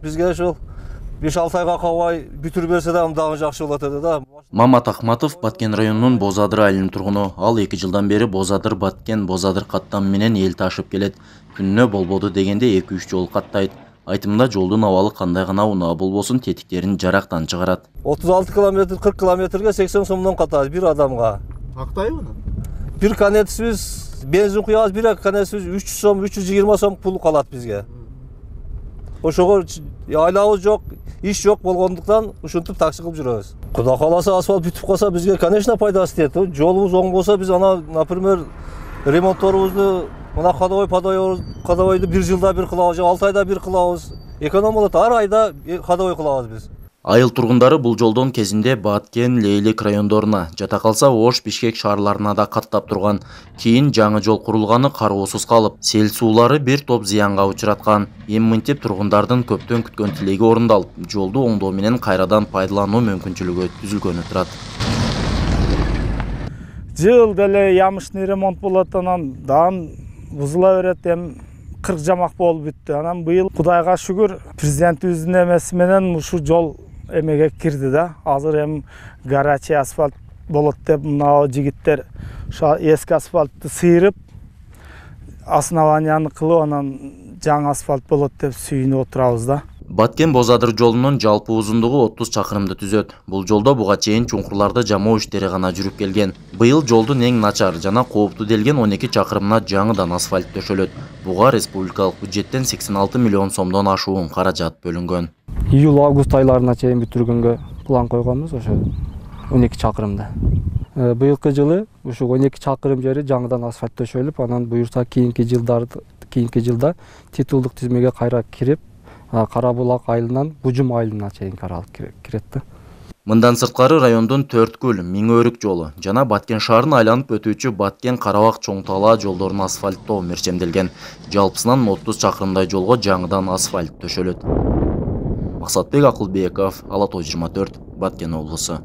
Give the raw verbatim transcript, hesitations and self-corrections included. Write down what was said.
Бизге ушул беш алты айга калбай бүтүрүп берсе дагы жакшы болот эди да. Мамат Акматов Баткен районунун Боз Адыр айылынын тургуну. Ал эки жылдан бери Боз Адыр Баткен Боз Адыр каттамы менен эл ташып келет. Күнүнө болбоду дегенде эки үч жол каттайт. Айтымында жолдун абалы кандай гана унаа болбосун тетиктерин жарактан чыгарат. отуз алты километр кырк километрге сексен сомдон катат бир адамга. Тактайбы? Бир конецибиз бензин куябыз, бир конецибиз үч жүз сом, үч жүз жыйырма сом пул калат бизге. Ошого айлабыз жок, иш жок болгондуктан ушинтип такси кылып жүрөбүз. Кудай кааласа асфальт бүтүп калса бизге, конечно, пайдасы тиет. Жолубуз оң болсо биз ана, например, ремонтторубузду мына ходовой ходовойду бир жылда бир кылабыз, алты айда бир кылабыз. Эконом болот, ар айда ходовой кылабыз биз. Айыл тургундары бул жолдон кезинде Баткен, Лейлик райондоруна, жата калса Ош, Бишкек шаарларына да каттап турган. Кийин жаңы жол курулганы кароосуз калып, сел суулары бир топ зыянга учраткан. Эми мынтип тургундардын көптөн күткөн тилеги орундалып, жолду оңдоо менен кайрадан пайдалануу мүмкүнчүлүгү түзүлгөнү турат. Жыл деле ямышный ремонт болот, анан дан бузула берет, эми кырк жамак болуп бүттү. Анан быйыл Кудайга шүгүр президентибиздин эмеси менен ушу жол эмеге кирди да. Азыр эми горячий асфальт болот деп мына жигиттер эски асфальтты сыйрып, основанияны кылып, анан жаңы асфальт болот деп сүйүнүп отурабыз да. Баткен Боз Адыр жолунун жалпы узундугу отуз чакырымды түзөт. Бул жолдо буга чейин чуңкурларды жамоо иштери гана жүрүп келген. Быйыл жолдун эң начар жана кооптуу делген он эки чакырымына жаңыдан асфальт төшөлөт. Буга республикалык бюджеттен сексен алты миллион сомдон ашуун каражат бөлүнгөн. Июль-август айларына чейин бүтүргөнгө план койгонбуз ошо он эки чакырымда. Быйылкы жылы ушу он эки чакырым жери жаңыдан асфальт төшөлүп, анан буюрса кийинки жылдарда кийинки жылда титулдук тизмеге кайра кирип, Карабулак айылынан Бужум айылына чейин каралып кирет да. Мындан сырткары райондун Төрткүл, Миң-Өрүк жолу жана Баткен шаарын айланып өтүүчү Баткен Карабак Чоң Талаа жолдорун асфальттоо мерчемделген. Жалпысынан отуз чакырымдай жолго жаңыдан асфальт төшөлөт. Максатбек Акылбеков, Ала той жыйырма төрт, Баткен облусу.